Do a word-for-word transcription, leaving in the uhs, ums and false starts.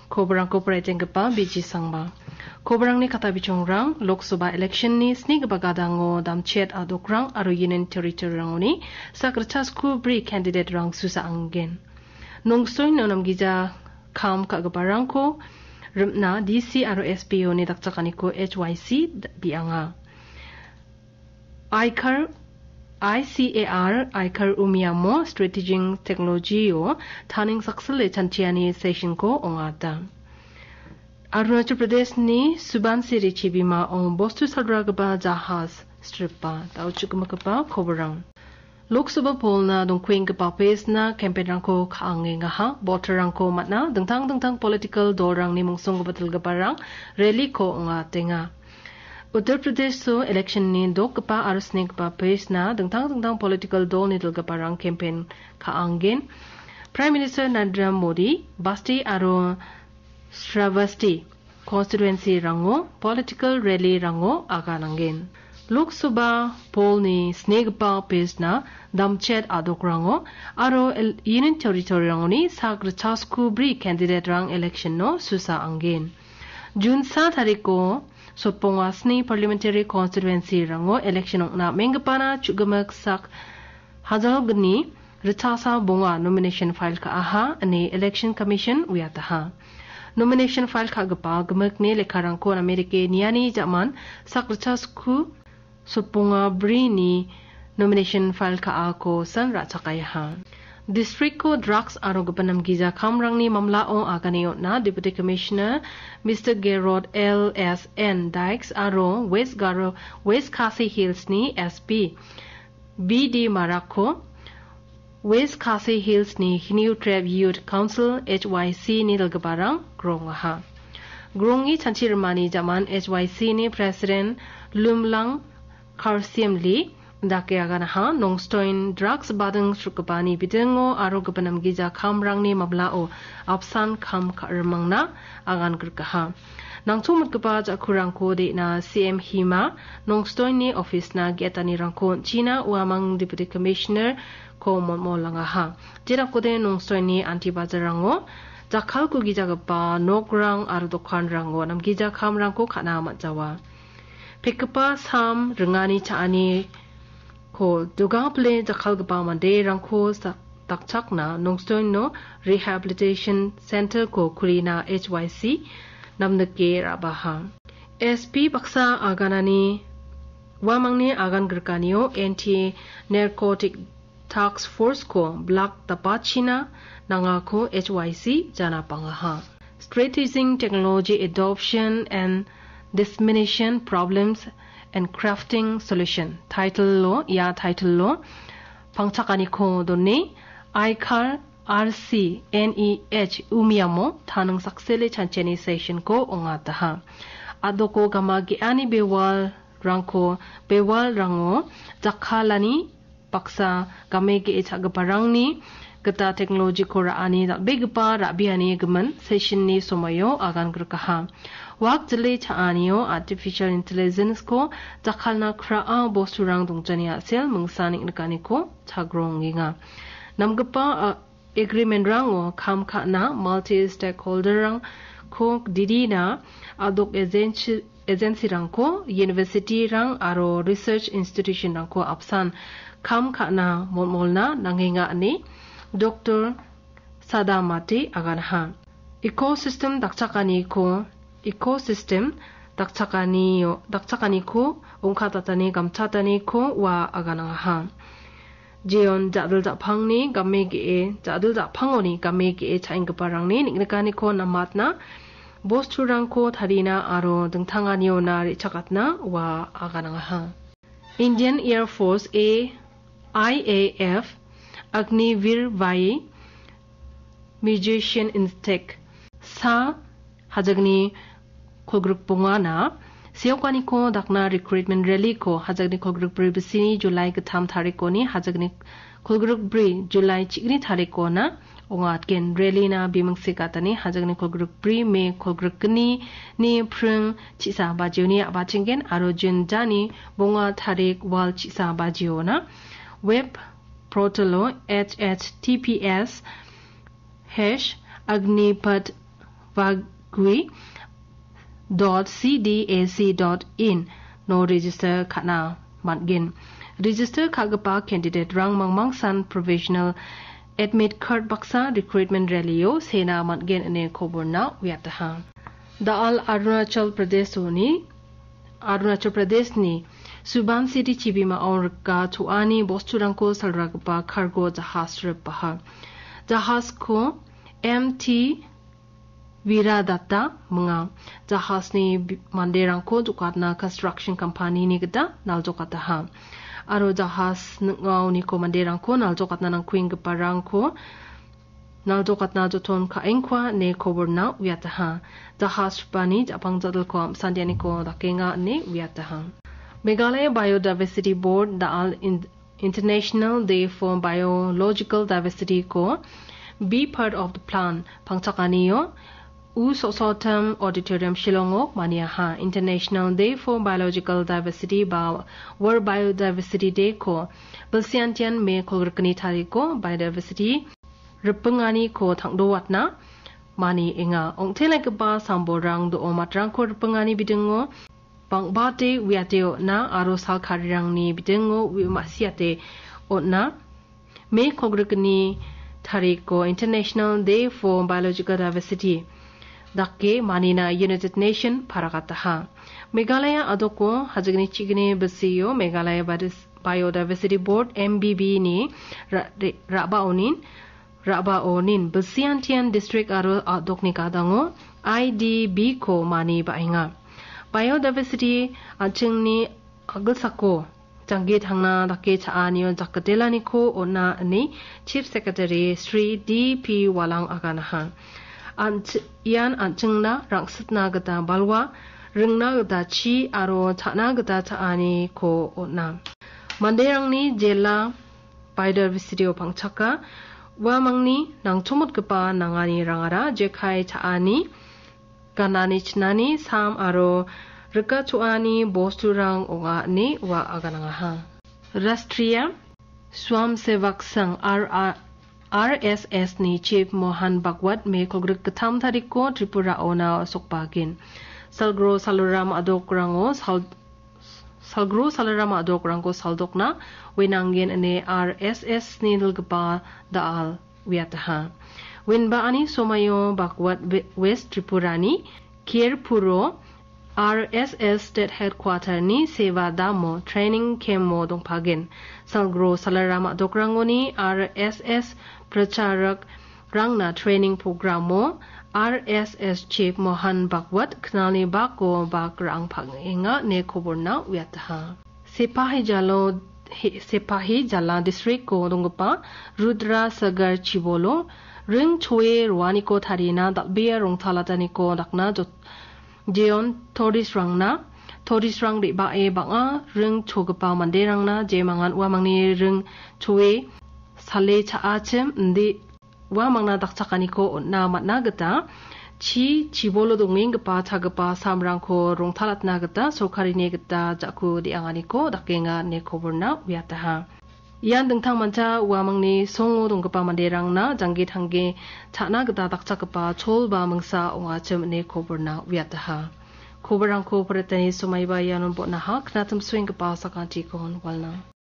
Koborangko poraitenggipa B G Sangma. Koborangni kata bichongrang, Lok Sabha election-ni snigipa gadango damchet adokrang aro Union Territory-rangoni sak ritchasku bri candidate-rang susa anggen. Nongstoino namgija kam ka·giparangko rimna D C aro S P O-ni dakchakaniko H Y C bianga. Aikar, I C A R, Aikar Umiamo Strategic Technology-o taning saksile chanchiani session-ko ong·ata. Arunachal Pradesh-ni Subansiri chibimao bostu salragipa jahas stripa, da·o chukgimitgipa koborang. Lok Sabha polna dongkuenggipa pes-na campaign-rangko ka·angengaha, voter-rangko man·a, dingtang dingtang political dolrangni mungsonggipa dilgiparang rally-ko ong·atenga. Uttar Pradesh-o election-ni dokgipa aro snigipa pes-na dingtang dingtang political dolni dilgiparang campaign ka·angen. Prime Minister Narendra Modi, Basti aro Shravasti constituency-rango political rally-rango aganangen. Lok Sabha polni snigipa pes-na damchet adokrango aro el-, Union Territory-rangoni sak ritchasku bri candidate-rang election-o susa anggen. June sa tariko sotbonga sni parliamentary constituency-rango election ong·na am·enggipana chukgimik sak hajalgni ritchasa bonga nomination file ka·aha ine Election Commission uiataha. Nomination file ka·gipa gimikni lekkarangko namerike niani ja·man sak ritchasku sotbonga brini nomination file ka·ako san ra·chakaiaha. District-ko drugs aro gipin namgija kamrangni mamlao agane on·na Deputy Commissioner Mister Gerard L S N Dykes aro West Garo, West Khasi Hills-ni S P B D Marakko West Khasi Hills-ni Hynniewtrep Youth Council, H Y C-ni dilgiparang grongaha. Grongi chanchi rimani jaman H Y C-ni President Lumlang Karsiemli dake aganaha, Nongstoin drugs bading srukgipani bidingo aro gipin namgija kamrangni mamlao apsan kam ka-, rimangna agan grikaha. Nangchongmitgipa ja·kurangko de·na C M Hima Nongstoini office-na ge·etanirangko on·china uamang Deputy Commissioner-ko molmolangaha. Jerakode Nongstoini anti bazarango jakkalko gijagipa nokrang aro dokanrango namgija kamrangko ka·na man·jawa. Pekgipa sam ringani cha·ani ko dogangpile jakkalgipa manderangko sa-, dakchakna Nongstoino Rehabilitation Center-ko kulina H Y C namnike ra·baha. S P baksa aganani uamangni agan grikanio Anti Narcotic Task Force-ko blak dapachina nangako H Y C janapangaha. Strategizing Technology Adoption and Dissemination Problems and Crafting Solution title-o, ia title-o pangchakaniko done, Aikar R C N E H Umiamo taning saksele chanchiani session-ko ong·ataha. Adoko gama ge·ani bewalrangko, bewalrango jakkalani baksa game ge·e cha·giparangni gita teknolojiko ra·ani dal·begipa ra·biani gimin session-ni somoio agan grikaha. Wak jile cha·anio artificial intelligence-ko jakkalna kra·a bosturang dongjani a·sel mingsa neng·nikaniko chagrongenga. Namgipa, a, agreement-rango kam ka·na multi-stakeholder-rangko didina adok agency, agency-rangko, university-rang aro research institution-rangko apsan kam ka·na molmolna nangenga ine Doktor Sadamati aganaha. Ecosystem dakchakaniko, ecosystem dakchakanio, dakchakaniko ong·katatani gamchataniko ua aganangaha. Jeon ja·dil ja·pangni game ge·e, ja·dil ja·pangoni game ge·e cha·enggiparangni neng·nikaniko namatna, bosturangko tarina aro dingtanganiona re·chakatna ua aganangaha. Indian Air Force, A I A F, Agniveer Vahi Musician Instinct sa hajagni kolgrik bongana seokaniko dakna recruitment rally-ko hajagni kolgrik bri bisini July gittam tarikoni hajagni kolgrik bri July chigni tarikona ong·atgen. Rally-na bimingse gatani hajagni kolgrik bri, Me kolgrik gni ni pring chisa bajioni a·bachenggen aro June dani bonga tarik wal chisa bajiona web portal-o H T T P S hash agnipath bagui dot C D A C dot in no register ka·na man·gen. Register ka·gipa candidate-rang mangmangsan professional admit card baksa recruitment rally-o sena man·gen ine koborna uiataha. Da·al Arunachal Pradeshoni, Arunachal Pradeshni Subansiri chibimao rika cho·ani bosturangko salragipa cargo jahas ripaha. Jahasko M T Viradatta minga. Jahasni bi-, manderangko jokatna construction company-ni gita naljokataha. Aro jahas ning·aoniko manderangko naljokatna nangkuenggiparangko naljokatna joton ka·engkua ine koborna uiataha. Jahas ripani ja·pang ja·dilko am·sandianiko dakenga ine uiataha. Meghalaya Biodiversity Board da·al in-, International Day for Biological Diversity ko Be Part of the Plan pangchakanio U Sosotam Auditorium Shillongo maniaha. International Day for Biological Diversity ba World Biodiversity Day ko bilsiantian May kolgrikni tariko biodiversity ripingani ko tangdowatna mani enga. Ong·telaigipa sambolrang do·o matrangko ripingani bidingo bang·bate uiate on·a aro salkarirangni bidingo ui ma·siate on·a. May kolgrikni tariko International Day for Biological Diversity dake manina United Nation paragataha. Meghalaya adoko hajigni chigni bisio Meghalaya Biodis-, Biodiversity Board, M B B ni ra-, re-, ra·baonin, ra·baonin bilsiantian district aro adokni gadango I D B ko mani ba·enga. Biodiversity an·chingni a·gilsako janggi tangna dake cha·anio jakdelaniko on·a ine Chief Secretary Shri D P Walang aganaha. An-, ian an·chingna rang·sitna gita balwa, ringna gita chi aro cha·na gita cha·aniko on·a. Manderangni jela biodiversity-o pangchaka, uamangni nangchomotgipa nanganirangara jekai cha·ani, ganani chinani, sam aro rika cho·ani bosturang ong·a ine ua aganangaha. Rashtriya Swamsevak Sangh, R R, R S S ni Chief Mohan Bhagwat May kolgrik gittam tariko Tripurao na·sokbagen. Salgro Salaram a·dokrango sal-, Salgro Salaram a·dokrango saldokna wenangen ine R S S ni dilgipa da·al uiataha. Wenba ani somaio Bhagwat We-, West Tripurani Kherpuro R S S State Headquarter ni Seva Damo Training Camp-o dongpagen. Salgro Salaram a·dokrangoni R S S pracharak rangna training program-o R S S Chief Mohan Bhagwat knalni bako bak ra·ang pang·enga ine koborna uiataha. Sepahi Jalo, he-, Sepahi Jala district-o donggipa Rudra Sagar chibolo ring choe roaniko tarina dal·bea rongtalataniko dakna jot-, jeon tourist-rangna, tourist-rang re·bae bang·a ring chogipa manderangna jemangan uamangni ring choe sale cha·achim indi uamangna dakchakaniko on·na man·a gita chi chibolo dongenggipa chagipa samrangko rongtalatna gita sorkarini gita ja·ku de·anganiko dakenga ine koborna uiataha. Ian dingtangmancha uamangni songo donggipa manderangna janggi tanggi cha·na gita dakchakgipa chol ba mingsa ong·achim ine koborna uiataha. Koborrangko poretani somaiba ianon bon·aha, knatim soenggipa sakantikon walna.